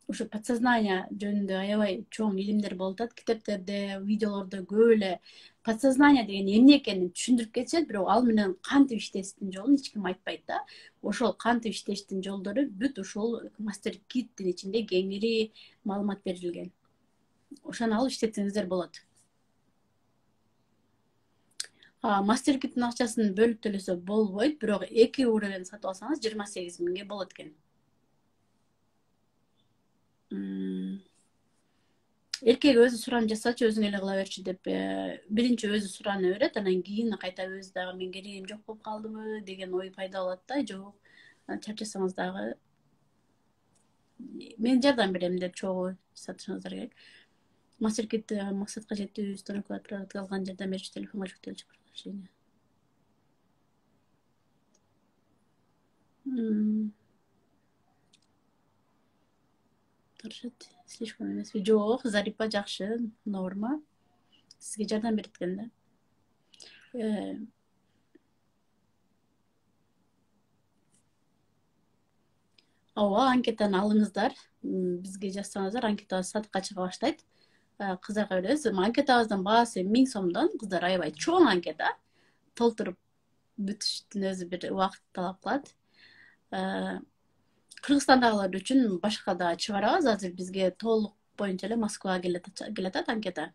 ушу подсознание жөнүндө аябай чоң илимдер болуп атат. Китептерде, видеолордо көп эле подсознание деген эмне экенин түшүндүрүп кетишет, бирок ал менен кантип иштештин жолун эч ким айтпайт да. Ошол кантип иштештин жолдору бүт ушул Мастеркиттин ичинде кеңири маалымат берилген. Ошону алып иштетсеңиздер болот. Мастеркиттин акчасын бөлүп төлөсө болбойт, бирок эки уровень сатып алсаңыз жыйырма сегиз миңге болот экен. Эркек өзү суран жасачы, өзүң эле кыла берчи деп биринчи өзү сураны берет, анан кийин кайта өзү дагы мен керегим жок болуп калдыбы деген ой пайда болот да. Жок, чарчасаңыз дагы мен жардам берем деп чогуу сатышыңыздар керек. Мастеркит максатка жетүү установкалар продукт алган жардам берүүчү телефонго жүктөлчү приложение. Турушат, слишком эмеспи? Жок, Зарипа жакшы, норма. Сизге жардам берет экен да. Ооба, анкетаны алыңыздар. Бизге жазсаңыздар, анкетабыз сатыкка чыга баштайт. Кыздарга беребиз. Анкетабыздын баасы миң сомдон. Кыздар аябай чоң анкета. Толтуруп бүтүштүн өзү бир убакыт талап кылат. Кыргызстандагылар үчүн башка да чыгарабыз. Азыр бизге толук боюнча эле Москвага келатат анкета.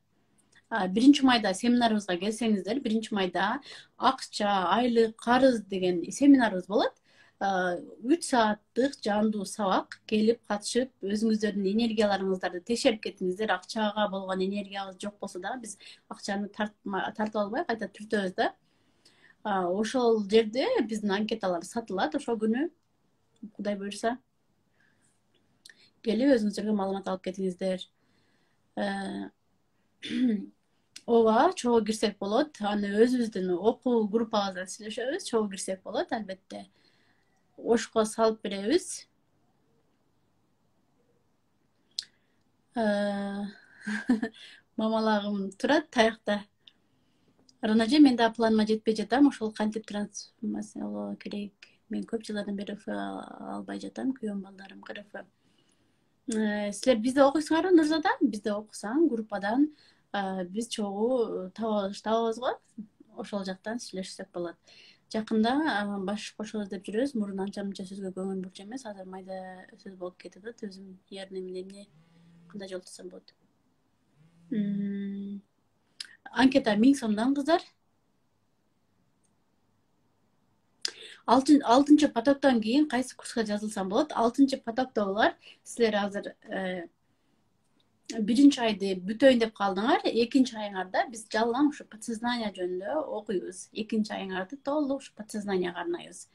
Биринчи майда семинарыбызга келсеңиздер, биринчи майда акча, айлык, карыз деген семинарыбыз болот. үч сааттык жандуу сабак. Келип катышып, өзүңүздөрдүн энергияларыңыздарды текшерип кетиңиздер. Акчага болгон энергиябыз жок болсо да, биз акчаны тартып албай кайта түртөбүз да. Ошол жерде биздин анкеталар сатылат ошол күнү. Кудай буйрса, келип өзүңүздөргө маалымат алып кетиңиздер. Ооба, чогуу кирсек болот. Аны өзүбүздүн окуу группабыздан сүйлөшөбүз. Чогуу кирсек болот, албетте. Ошко салып беребиз. Мамалагым турат таякта. Ранажа, мен да планыма жетпей жатам. Ошол кантип трансформациялоо керек? Мен көп жылдардан бери Ф албай жатам. Күйөөм, балдарым КРФ. Силер бизде окуйсуңарбы, Нурзада? Бизде окусаң, группадан биз чогуу табабыз го. Ошол жактан сүйлөшсөк болот. Жакында баш кошобуз деп жүрөбүз. Мурун анча мынча сөзгө көңүл бурчу эмес. Азыр майда сөз болуп кетип атат. Өзүм ярым эмне эмне кандай жолтурсам болот. Анкета миң сомдон, кыздар. алтынчы потоктон кийин кайсы курска жазылсам болот? алтынчы потоктогулар силер азыр биринчи айды бүтөйүн деп калдыңар. Экинчи айыңарда биз жалаң ушу подсознание жөнүндө окуйбуз. Экинчи айыңарды толук ушу подсознаниега арнайбыз.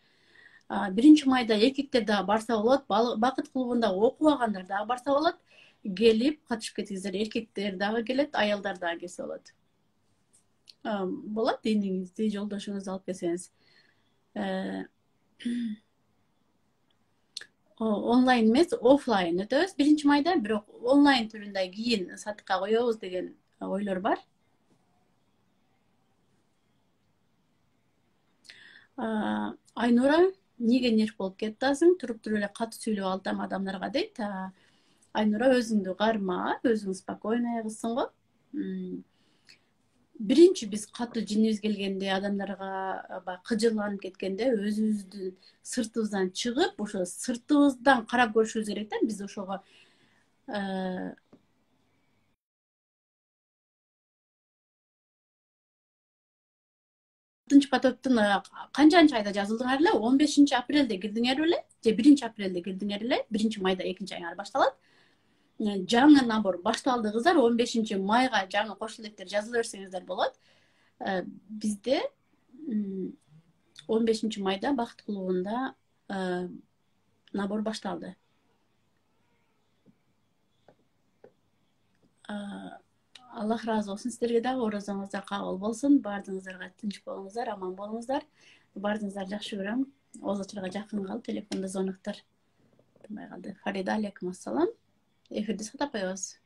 Биринчи майда эркектер дагы барса болот, бакыт клубунда окубагандар дагы барса болот. Келип катышып кетиңиздер. Эркектер дагы келет, аялдар дагы келсе болот. Болот, эниңизди, жолдошуңузду алып келсеңиз. Онлайн эмес, офлайн өтөбүз биринчи майда, бирок онлайн түрүндө кийин сатыкка коебуз деген ойлор бар. Айнура, эмнеге нерв болуп кетасың? Туруп туруп эле катуу сүйлөп алсам адамдарга дейт. Айнура, өзүңдү карма, өзүң спокойный кызсың го. Биринчи биз катуу жинибиз келгенде, адамдарга кыжырланып кеткенде, өзүбүздүн сыртыбыздан чыгып, ошо сыртыбыздан карап көрүшүбүз керек да. Биз ошого алтынчы потоктун канчанчы айда жазылдыңар эле? он бешинчи апрелде кирдиңер беле? Же биринчи апрелде кирдиңер эле? биринчи майда экинчи айыңар башталат. Жаңы набор башталды, кыздар. он бешинчи майга жаңы кошулу электер жазыла берсеңиздер болот. Бизде он бешинчи майда бакыт клубунда набор башталды. Аллах разы болсун сиздерге дагы. Орозоңуздар кабыл болсун. Баардыгыңыздарга тынч болуңуздар, аман болуңуздар. Баардыгыңыздарды жакшы көрөм. Оз очурга жакын калып, телефондо звоноктор турбай калды. Фарида, алейкум ассалам. Эфирди сатап коебуз.